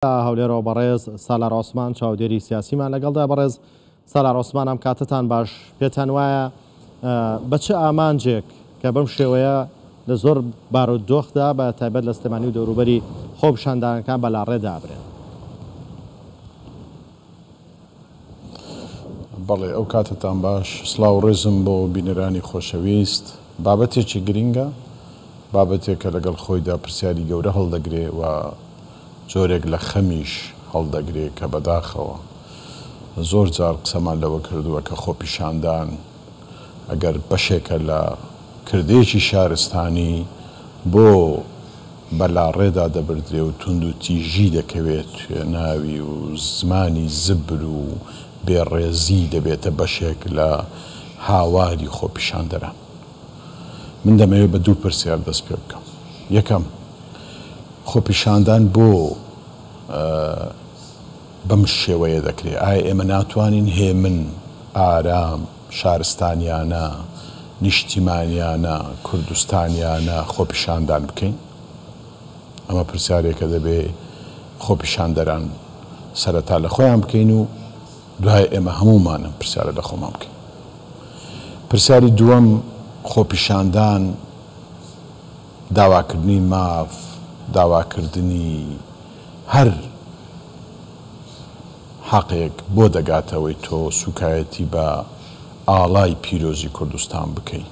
هەولێرەوە بەڕێز سالار عوسمان چاودێری سیاسیمان لەگەڵدا. بەڕێز سالار عوسمان، ئەم کاتەتان باش. پێتان وایە بە چ ئامانجێک کە بەم شێوەیە لە زۆر بارودۆخدا بە تایبەت لە سلێمانی و دەوروبەری خۆپیشاندانەکان بە لاڕێدا ئەبرێن؟ بەڵێ ئەو کاتەتان باش، سڵاو و ڕێزم بۆ بینەرانی خۆشەویست. بابەتێکی گرینگە، بابەتێکە لەگەڵ خۆیدا پرسیاری گەورە هەڵدەگرێ و جۆرێک لە خەمیش هەڵدەگرێ کە بەداخەوە زۆر جار قسەمان لەوە کردووە کە خۆپیشاندان ئەگەر بەشێکە لە کردەیەکی شارستانی بۆ بە لاڕێدا دەبردرێ و توندوتیژی دەکەوێت ناوی و زمانی زبر و بێڕێزی دەبێتە بەشێک لە هاواری خۆپیشاندەران. من دەمەوێت بە دوو پرسیار دەست پێ بکەم. یەکەم، خۆپیشاندان بۆ بەم شێوەیە دەکرێ؟ ئایا ئێمە ناتوانین هێمن، ئارام، شارستانیانە، نیشتیمانیانە، کوردستانیانە خۆپیشاندان بکەین؟ ئەمە پرسیارێکە دەبێ خۆپیشاندەران سەرەتا لە خۆیان بکەین و دوای ئێمە هەموومان ئەم پرسیارە لە خۆمان بکەین. پرسیاری دووەم، خۆپیشاندان داواکردنی ماف، داواکردنی هەر حەقێک بۆ دەگاتەوەی تۆ سوکایەتی بە ئاڵای پیرۆزی کوردستان بکەی؟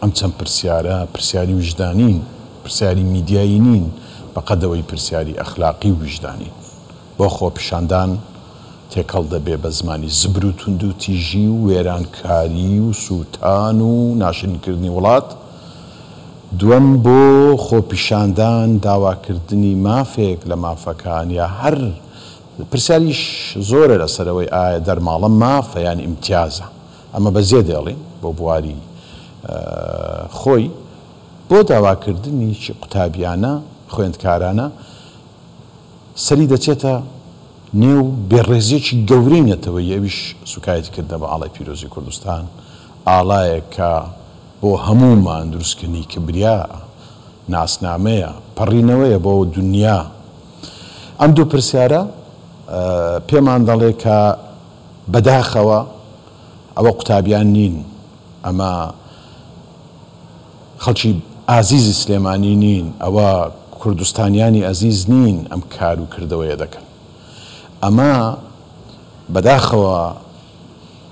ئەم چەند پرسیارە پرسیاری ویژدانین، پرسیاری میدیایی نین بەقەدەوەی پرسیاری ئەخلاقی و ویژدانین. بۆ خۆپیشاندان تێکەڵ دەبێ بە زمانی زبر و توندوتیژی و وێرانکاری و سووتان و ناشرینکردنی وڵات، دووەم بۆ خۆپیشاندان داواکردنی مافێک لە مافەکان یا هەر پرسیاریش زۆرە لەسەر ئەوەی ئایا دەرماڵە مافە یان ئیمتیازە ئەمە بەجێ دێڵین بۆ بواری خۆی بۆ داواکردنی قوتابیانە خوێندکارانە سەری دەچێتە نێو بێڕێزییەکی گەورەی نەتەوەیی، ئەویش سوکایەتی کردنە بە ئاڵای پیرۆزی کوردستان، ئاڵایەک کە بۆ هەموومان دروستکردنی کبریا، ناسنامەیە، پەڕینەوەیە بۆ دونیا. ئەم دوو پرسیارە پێمان دەڵێ کە بەداخەوە ئەوە قوتابیان نین، ئەمە خەڵکی ئازیزی سلێمانی نین، ئەوە کوردستانیانی ئەزیز نین ئەم کار و کردەوەیە دەکەن. ئەمە بەداخەوە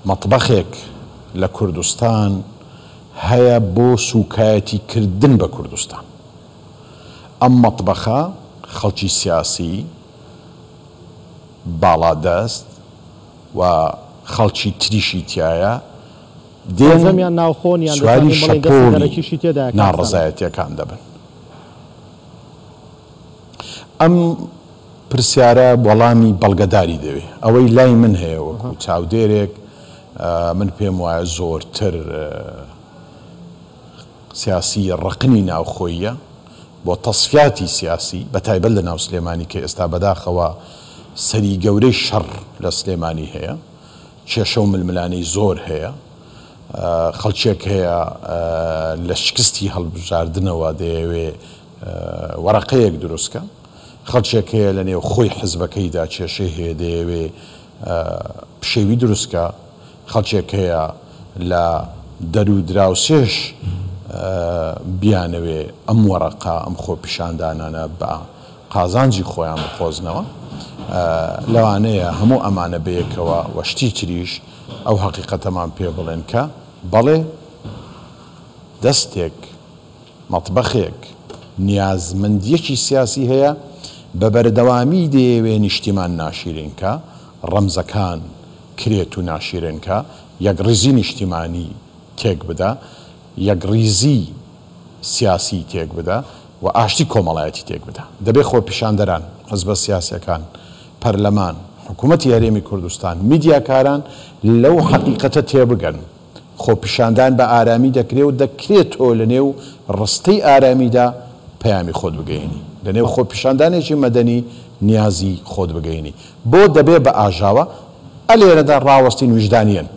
مەتبەخێک لە کوردستان هەیە بۆ سوکایەتی کردن بە کوردستان. ئەم مەتبەخە خەڵکی سیاسی باڵادەست و خەڵکی تریشی تیایە، دێن سەرجەمیان ناوخۆن یان سواری دەتوانین بڵێین دەستی شەپۆلی دەرەکیشی تێدایە کاک سالار؟ ناڕەزایەتیەکان دەبن. ئەم پرسیارە وەڵامی بەڵگەداری دەوێ. ئەوەی لای من هەیە وەکو چاودێرێک من پێم وایە زۆرتر سیاسی ڕقنی ناوخۆییە بۆ تەسفیاتی سیاسی بە تایبەت لە ناو سلێمانی کە ئێستا بەداخەوە سەری گەورەی شەڕ لە سلێمانی هەیە. کێشە و ململانێی زۆر هەیە، خەڵکێک هەیە لە شکستی هەڵبژاردنەوە دەیەوێ وەرەقەیەک دروست کا، خەڵکێک هەیە لە نێو خۆی حزبەکەیدا کێشەی هەیە دەیەوێ پشێوی دروست کا، خەڵکێک هەیە لە دەر و دراوسێش بیانەوێ ئەم وەرەقە، ئەم خۆپیشاندانانە بە قازانجی خۆیان بقۆزنەوە، لەوانەیە هەموو ئەمانە بەیەکەوە و شتی تریش ئەو هەقیقەتەمان پێ بڵێن کە بەڵێ دەستێک، مەتبەخێک، نیازمەندییەکی سیاسی هەیە، بە بەردەوامی دەیەوێ نیشتیمان ناشیرین کا، ڕەمزەکان کرێت و ناشیرێن کا، یەکڕیزی نیشتیمانی تێک بدا، یەکڕیزی سیاسی تێک بدا و ئاشتی کۆمەڵایەتی تێک بدا. دەبێ خۆپیشاندەران، حزبە سیاسیەکان، پەرلەمان، حکومەتی هەرێمی کوردستان، میدیاکاران لەو حەقیقەتە تێبگەن. خۆپیشاندان بە ئارامی دەکرێ و دەکرێ تۆ لە نێو ڕستەی ئارامیدا پەیامی خۆت بگەیەنی. لە نێو خۆپیشاندانێکی مەدەنی نیازی خۆت بگەیەنی. بۆ دەبێ بە ئاژاوە؟ ئە لێرەدا ڕاوەستین ویژدانیەن.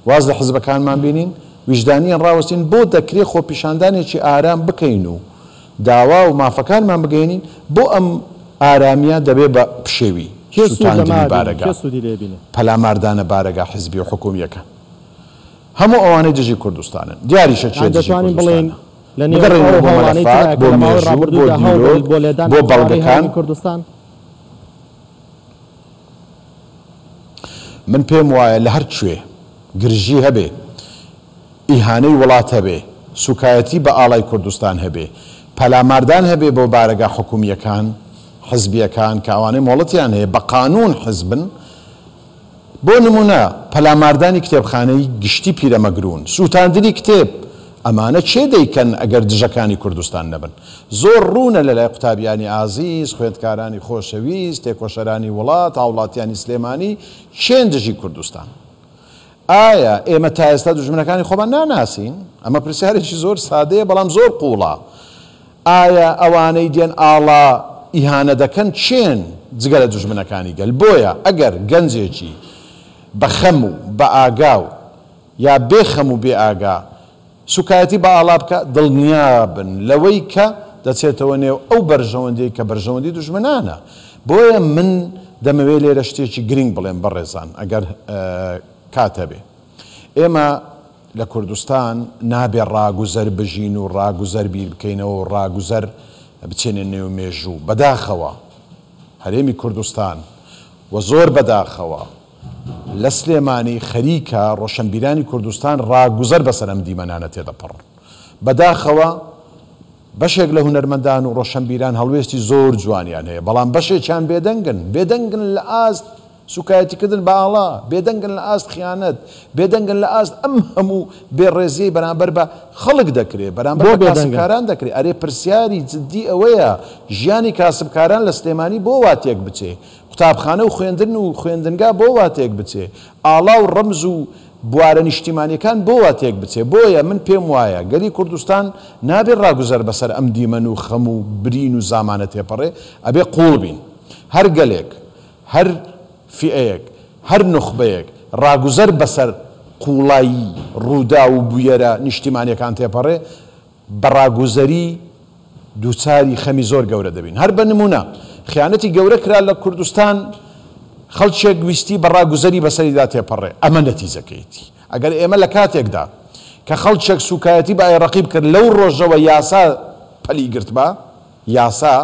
واز لە حزبەکانمان بینین، ویژدانیان ڕاوەستین، بۆ دەکرێ خۆپیشاندانێکی ئارام بکەین و داوا و مافەکانمان بگەیەنین، بۆ ئەم ئارامییە دەبێ بە پشێوی، کێ سوود لەمە سووتاندنی ئەبینێ؟ بارەگا، کێ سوودی لێ بینێ؟ پەلاماردانە بارەگا حیزبی و حکوومییەکان. هەموو ئەوانەی دژی کوردستانن. دیاریشە کێ یان دژی دەتوانین بڵێین کوردستانە. لە نێو بگەڕێینەوە ئەو بۆ هەوڵانەی مەلەفات، ترا کە بۆ لە ماوەی مێژوو، بۆ ڕابردوودا هەوڵ دیرۆک، بۆ لێدان بۆ لە قەوارەی بەڵگەکان. هەرێمی کوردستان؟ من پێم وایە لە هەر کوێ گرژی هەبێ، ئیهانەی وڵات هەبێ، سوکایەتی بە ئاڵای کوردستان هەبێ، پەلاماردان هەبێ بۆ بارەگا حکومییەکان، حزبییەکان کە ئەوانەی مۆڵەتیان هەیە بە قانوون حزبن، بۆ نموونە پەلاماردانی کتێبخانەی گشتی پیرەمەگروون، سووتاندنی کتێب، ئەمانە کێ دەیکەن ئەگەر دژەکانی کوردستان نەبن؟ زۆر ڕوونە لەلای قوتابیانی ئازیز، خوێندکارانی خۆشەویست، تێکۆشەرانی وڵات، هاوڵاتیانی سلێمانی کێن دژی کوردستان؟ ئایا ئێمە تا ئێستا دوژمنەکانی خۆمان ناناسین؟ ئەمە پرسیارێکی زۆر سادەیە بەڵام زۆر قووڵە. ئایا ئەوانەی دێن ئاڵا ئیهانە دەکەن کێن جگە لە دوژمنەکانی گەل؟ بۆیە ئەگەر گەنجێکی بە خەم و بە ئاگا و یا بێ خەم و بێ ئاگا سوکایەتی بە ئاڵا بکا دڵنیابن لەوەی کە دەچێتەوە نێو ئەو بەرژەوەندیەی کە بەرژەوەندی دوژمنانە. بۆیە من دەمەوێ لێرە شتێکی گرینگ بڵێم بەڕێزان ئەگەر کات هەبێ. ئێمە لە کوردستان نابێ ڕاگوزەر بژین و ڕاگوزەر بیر بکەینەوە و ڕاگوزەر بچێنە نێو مێژوو. بەداخەوە هەرێمی کوردستان و زۆر بەداخەوە لە سلێمانی خەریکە ڕۆشەنبیرانی کوردستان ڕاگوزەر بەسەر ئەم دیمەنانە تێدەپەڕن. بەداخەوە بەشێک لە هونەرمەندان و ڕۆشەنبیران هەڵوێستی زۆر جوانیان هەیە، بەڵام بەشێکیان بێدەنگن، بێدەنگن لە ئاست سوکایەتیکردن بە ئاڵا، بێدەنگن لە ئاست خیانەت، بێدەنگن لە ئاست ئەم هەموو بێڕێزیەی بەرامبەر بە خەڵک دەکرێ، بەرامبەر بۆ بە بێدەنگن؟ کاسبکاران دەکرێ. ئەرێ پرسیاری جدی ئەوەیە ژیانی کاسبکاران لە سلێمانی بۆ وا تێک بچێ؟ قوتابخانە و خوێندن و خوێندنگا بۆ وا تێک بچێ؟ ئاڵا و ڕەمز و بوارە نیشتیمانیەکان بۆ وا تێک بچێ؟ بۆیە من پێم وایە گەلی کوردستان نابێ ڕاگوزەر بەسەر ئەم دیمەن و خەم و برین و زامانە تێپەڕێ، ئەبێ قووڵ بین. هەر گەلێک، هەر فیئەیەک، هەر نوخبەیەک ڕاگوزەر بەسەر قووڵایی ڕووداو و بویەرە نیشتیمانیەکان تێپەڕێ، بە ڕاگوزەری دووچاری خەمی زۆر گەورە دەبین. هەر بە نموونە، خیانەتی گەورە کرا لە کوردستان، خەڵکێک ویستی بە ڕاگوزەری بەسەریدا تێپەڕێ، ئەمە نەتیجەکەیەتی. ئەگەر ئێمە لە کاتێکدا کە خەڵکێک سووکایەتی بە ئای ڕەقیب کرد، لەو ڕۆژەوە یاسا پەلی گرتبا، یاسا،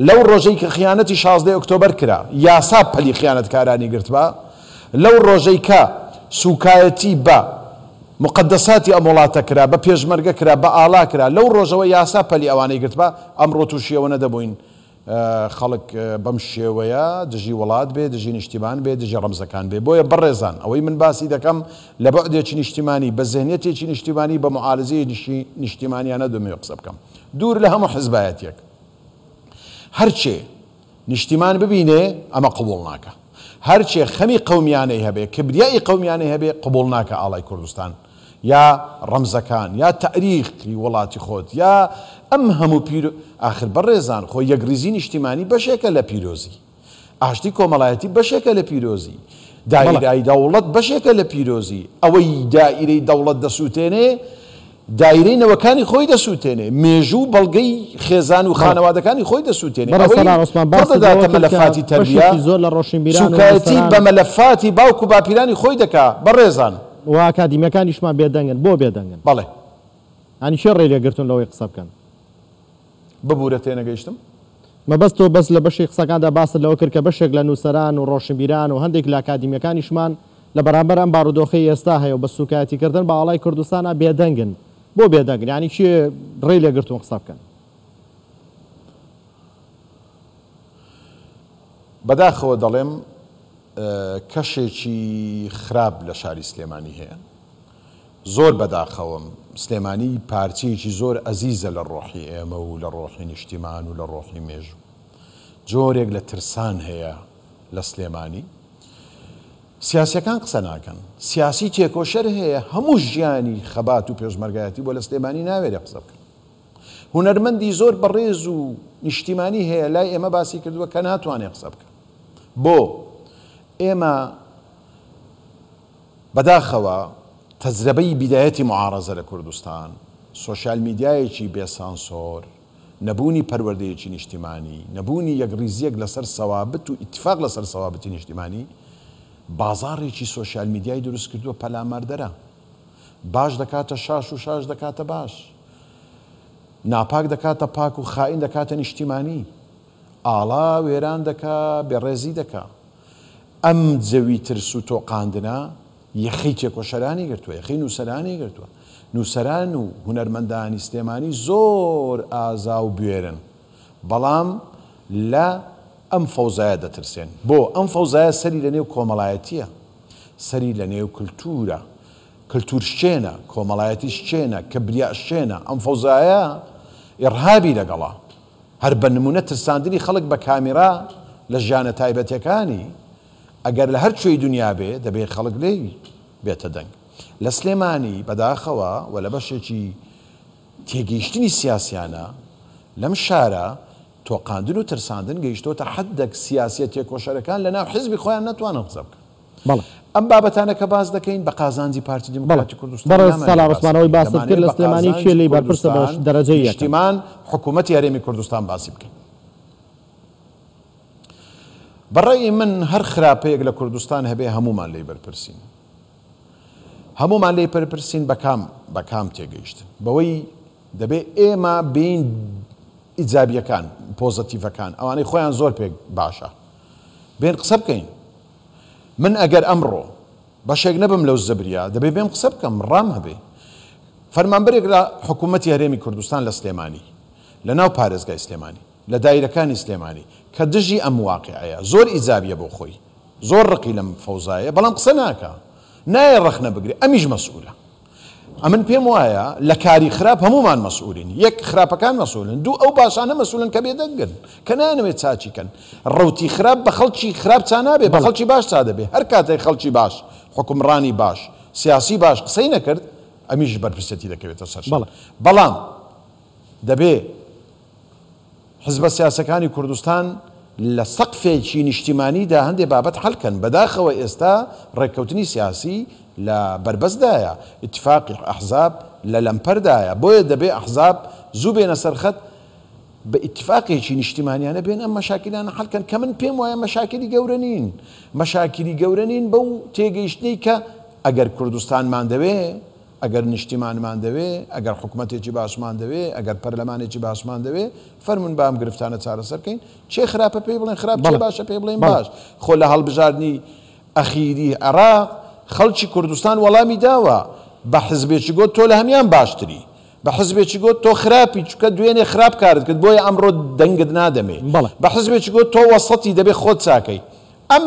لەو ڕۆژەی کە خیانەتی شازدەی ئۆکتۆبەر کرا، یاسا پەلی خیانەتکارانی گرتبا، لەو ڕۆژەی کە سووکایەتی بە موقەدەساتی ئەم وڵاتە کرا، بە پێشمەرگە کرا، بە ئاڵا کرا، لەو ڕۆژەوە یاسا پەلی ئەوانەی گرتبا، ئەمڕۆ تووشی ئەوە نەدەبووین خەڵک بەم شێوەیە دژی وڵات بێ، دژی نیشتیمان بێ، دژی ڕەمزەکان بێ. بۆیە بەڕێزان ئەوەی من باسی دەکەم لە بوعدێکی نیشتیمانی، بە زهنیەتێکی نیشتیمانی، بە موعالجەیەکی نیشتیمانیانە دەمەوێ قسە بکەم. دوور لە هەموو حزبایەتیەک. هەرچێ نیشتیمان ببینێ ئەمە قبوڵ ناکا. هەرچێ خەمی قەومیانەی هەبێ، کبریائی قەومیانەی هەبێ قبوڵ ناکا ئاڵای کوردستان یا ڕەمزەکان یا تاریخی وڵاتی خۆت یا ئەم هەموو پیرۆ ئاخر بەڕێزان خۆ یەکڕیزی نیشتیمانی بەشێکە لە پیرۆزی. ئاشتی کۆمەڵایەتی بەشێکە لە پیرۆزی. دایرای دەوڵەت بەشێکە لە پیرۆزی. ئەوەی دایرەی دەوڵەت دەسووتێنێ، دایرەی نەوەکانی خۆی دەسووتێنێ، مێژوو و بەڵگەی خێزان و خانەوادەکانی خۆی دەسووتێنێ. ئەوەی پڕ دەداتە مەلەفاتی تەربیە، سووکایەتی بە مەلەفاتی باوک و باپیرانی خۆی دەکا. بەڕێزان. و ئاکادیمیەکانیشمان بێدەنگن. بۆ بێدەنگن؟ بەڵێ. یانی کێ ڕێی لێ گرتوون لەوەی قسە بکەن؟ ببورە تێنەگەیشتم. مەبەست تۆ بەس لە بەشێک قسەکاندا باست لەوە کرد کە بەشێک لە نووسەران و ڕۆشنبیران و هەندێک لە ئەکادیمیەکانیشمان لە بەرامبەر ئەم بارودۆخەی ئێستا هەیە و بە سووکایەتی کردن بە ئاڵای کوردستانا بێدەنگن. بۆ بێدەنگن؟ یانی کێ ڕێی لێ گرتوون قسە بکەن؟ بەداخەوە دەڵێم کەشێکی خراپ لە شاری سلێمانی هەیە. زۆر بەداخەوەم، سلێمانی پارچەیەکی زۆر ئەزیزە لە ڕۆحی ئێمە و لە ڕۆحی نیشتیمان و لە ڕۆحی مێژوو. جۆرێک لە ترسان هەیە لە سلێمانی. سیاسیەکان قسە ناکەن. سیاسی تێکۆشەر هەیە هەموو ژیانی خەبات و پێشمەرگایەتی بووە لە سلێمانی ناوێرێ قسە بکا. هونەرمەندی زۆر بەڕێز و نیشتیمانی هەیە لای ئێمە باسی کردووە کە ناتوانێ قسە بکا. بۆ؟ ئێمە بەداخەوە تەجرەبەی بیدایەتی معارەزە لە کوردستان، سۆشیال میدیایەکی بێ سانسۆر، نەبوونی پەروەردەیەکی نیشتیمانی، نەبوونی یەکڕیزییەک لەسەر سەوابت و ئیتیفاق لەسەر سەوابتی نیشتیمانی، بازاڕێکی سۆشیال میدیای دروست کردووە پەلاماردەرە. باش دەکاتە شاش و شاش دەکاتە باش. ناپاک دەکاتە پاک و خائین دەکاتە نیشتیمانی. ئاڵا وێران دەکا، بێڕێزی دەکا. ئەم جەوی ترس و تۆقاندنە یەخەی تێکۆشەرانی گرتووە، یەخەی نووسەرانی گرتووە. نووسەران و هونەرمەندانی سلێمانی زۆر ئازا و بوێرن، بەڵام لە ئەم فەوزایە دەترسێن. بۆ؟ ئەم فەوزایە سەری لە نێو کۆمەڵایەتییە، سەری لە نێو کلتوورە، کلتوورشکێنە، کۆمەڵایەتیشکێنە، کبریاشکێنە. ئەم فەوزایە ئیڕهابی لەگەڵە. هەر بە نموونە ترساندنی خەڵک بە کامیرا لە ژیانە تایبەتیەکانی، ئەگەر لە هەر کوێی دونیا بێ دەبێ خەڵک لێی بێتە دەنگ. لە سلێمانی بەداخەوە و لە بەشێکی تێگەیشتنی سیاسیانە لەم شارە تۆقاندن و ترساندن گەیشتۆتە حەدێک سیاسیە تێکۆشەرەکان لە ناو حزبی خۆیان نەتوانن قسە بکەن. بەڵێ. ئەم بابەتانە کە باس دەکەین بە قازانجی پارتی بەڵێ دیموکراتی کوردستان بەڕێز نامانەوێ سالار باسی عوسمان ئەوەی بکەین، باست کرد دەمانەوێ لە بە سلێمانی کێ قازانجی لێی بەرپرسە بە کوردستان، دەرەجەی یەکەم؟ نیشتیمان، حکوومەتی هەرێمی کوردستان باسی بکەین. بە ڕەئی من هەر خراپەیەک لە کوردستان هەبێ هەموومان لێی بەرپرسین. هەموومان لێی بەرپرسین بە کام بە کام تێگەیشتن؟ بەوەی دەبێ ئێمە بێین ئیجابییەکان، پۆزەتیڤەکان، ئەوانەی خۆیان زۆر پێ باشە بێن قسە بکەین. من ئەگەر ئەمڕۆ بەشێک نەبم لەو زبریە دەبێ بێم قسە بکەم، ڕام هەبێ. فەرمانبەرێک لە حکوومەتی هەرێمی کوردستان لە سلێمانی، لە ناو پارێزگای سلێمانی، لە دایرەکانی سلێمانی کە دژی ئەم واقیعەیە، زۆر ئیجابیە بۆ خۆی، زۆر ڕقی لەم فەوزایە، بەڵام قسە ناکا، نایە ڕەخنە بگرێ، ئەمیش مەسئولە. ئەمن پێم وایە لە کاری خراپ هەموومان مەسئولین، یەک خراپەکان مەسئولن، دوو ئەو باشانە مەسئولن کە بێدەنگن، کە نایانەوێت چاکی کەن. ڕەوتی خراپ بە خەڵکی خراپ چا نابێ، بە خەڵکی باش چا دەبێ. هەر کاتێک خەڵکی باش، حوکمڕانی باش، سیاسی باش قسەی نەکرد، ئەمیش بەرپرسیەتی دەکەوێتە سەر شان. بەڵام دەبێ حزبە سیاسەکانی کوردستان لە سەقفێکی نیشتیمانیدا هەندێ بابەت حەل کەن، بەداخەوە ئێستا ڕێککەوتنی سیاسی لە بەربەستدایە، ئیتفاقی ئەحزاب لە لەمپەردایە، بۆیە دەبێ ئەحزاب زوو بێنە سەر خەت، بە ئیتفاقێکی نیشتیمانیانە بێن ئەم مەشاکیلانە حەل کەن کە من پێم وایە مەشاکیلی گەورە نین، مەشاکیلی گەورە نین بەو تێگەیشتنەی کە ئەگەر کوردستانمان دەوێ، ئەگەر نیشتیمانمان دەوێ، ئەگەر حکومەتێکی باشمان دەوێ، ئەگەر پەرلەمانێکی باشمان دەوێ، فەرموون با ئەم گرفتانە چارەسەر کەین، کێ خراپە پێی بڵێن خراپ، کێ باشە پێی بڵێن باش. خۆ لە هەڵبژاردنی ئەخیری عێراق خەڵکی کوردستان وەڵامی داوە، بە حزبێکی گۆت تۆ لە هەمیان باشتری، بە حزبێکی گۆت تۆ خراپی چونکە دوێنێ خراپ کارت کرد بۆیە ئەمڕۆ دەنگت نادەمێ، بە حزبێکی گۆت تۆ وەسەتی دەبێ خۆت چاکەی. ئەم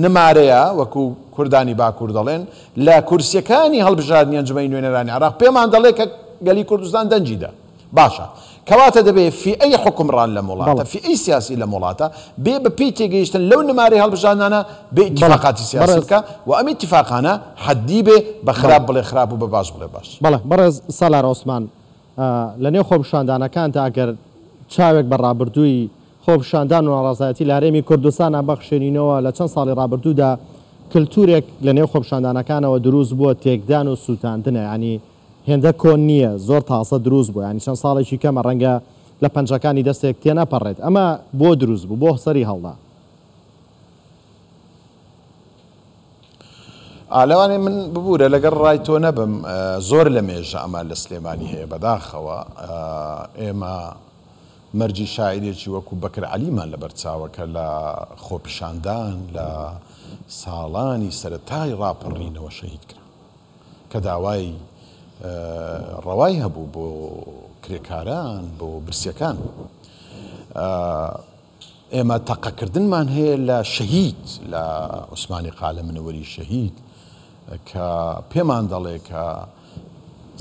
نمارەیە، وەکو کوردانی باکوور دەڵێن، لە کورسییەکانی هەڵبژاردنی ئەنجومەنی نوێنەرانی عێراق پێمان دەڵێ کە گەلی کوردستان دەنگی دا. باشە. کەواتە دەبێ فیئەی حوکمڕان لەم وڵاتە، فیئەی سیاسی لەم وڵاتە بێ بە پێی تێگەیشتن لەو نمارەی هەڵبژاردنانە بێ ئیتیفاقاتی سیاسی بکا و ئەم ئیتیفاقانە حەدی بێ، بە خراپ بڵێ خراپ و بە باش بڵێ باش. بەڵێ. بەڕێز سالار عوسمان، لە نێو خۆپیشاندانەکاندا ئەگەر چاوێک بە ڕابردووی خۆپیشاندان و ناڕەزایەتی لە هەرێمی کوردستانا بخشێنینەوە، لە چەند ساڵی ڕابردوودا کلتورێک لە نێو خۆپیشاندانەکانەوە دروست بووە تێکدان و سوتاندنە، یانی هێندە کۆن نییە زۆر تازە دروست بووە، یانی چەند ساڵێکی کەمە ڕەنگە لە پەنجەکانی دەستێک تێنەپەڕێت، ئەمە بۆ دروست بوو؟ بۆ سەری هەڵدا؟ ئا لەوانەیە من ببورە لەگەڵ ڕای تۆ نەبم زۆر لە مێژە ئەمە لە سلێمانی هەیە بەداخەوە ئێمە مەرجی شاعیرێکی وەکو بەکر عەلیمان لەبەر چاوە کە لە خۆپیشاندان لە ساڵانی سەرەتای ڕاپەڕینەوە شەهید کرا کە داوای ڕەوای هەبوو بۆ کرێکاران بۆ برسیەکان. ئێمە تەقەکردنمان هەیە لە شەهید، لە عوسمانی قالە منەوەری شەهید کە پێمان دەڵێ کە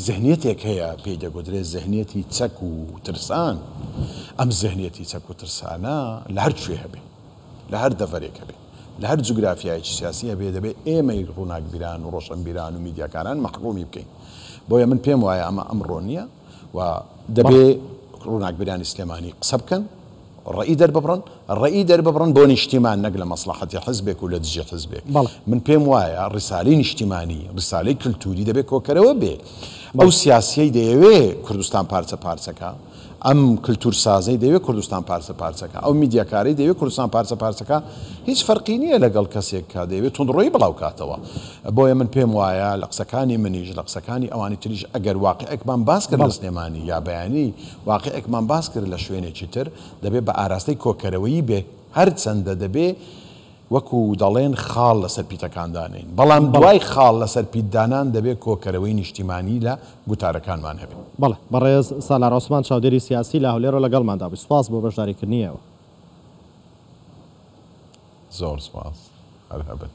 زهنیەتێک هەیە پێی دەگوترێت زهنیەتی چەک و ترسان. ئەم زهنیەتی چەک و ترسانە لە هەر کوێ هەبێ، لە هەر دەڤەرێک هەبێ، لە هەر جوگرافیایەکی سیاسی هەبێ، دەبێ ئێمەی ڕووناکبیران و ڕۆشنبیران و میدیاکاران مەحروومی بکەین. بۆیە من پێم وایە ئەمە ئەمڕۆ نییە و دەبێ ڕووناکبیرانی سلێمانی قسە بکەن، ڕەئی دەرببڕن، ڕەئی دەرببڕن بۆ نیشتیمان نەک لە مەسڵەحەتی حزبێک و لە دژی حزبێک. من پێم وایە ڕیسالەی نیشتیمانی، ڕیسالەی کلتوری دەبێ کۆکەرەوە بێ. ئەو سیاسیەی دەیەوێ کوردستان پارچە پارچە کا، ئەم کلتورسازەی دەیەوێ کوردستان پارچە پارچە کا، ئەو میدیاکارەی دەیەوێ کوردستان پارچە پارچە کا، هیچ فەرقی نییە لەگەڵ کەسێک کە دەیەوێ توندڕۆیی بڵاو کاتەوە. بۆیە من پێم وایە لە قسەکانی منیش، لە قسەکانی ئەوانی تریش ئەگەر واقیعێکمان باس کرد لە سلێمانی یا بەیانی واقیعێکمان باس کرد لە شوێنێکی تر، دەبێ بە ئاراستەی کۆکەرەوەیی بێ، هەرچەندە دەبێ وەکو دەڵێن خاڵ لەسەر پیتەکان دانێین، بەڵام دوای خاڵ لەسەر پیت دانان دەبێ کۆکەرەوەی نیشتیمانی لە گوتارەکانمان هەبێ. بەڵێ، بەڕێز سالار عوسمان چاودێری سیاسی لە هەولێرەوە لەگەڵماندا بووی، سوپاس بۆ بەشداریکردنی ئێوە. زۆر سوپاس، هەر هەبن.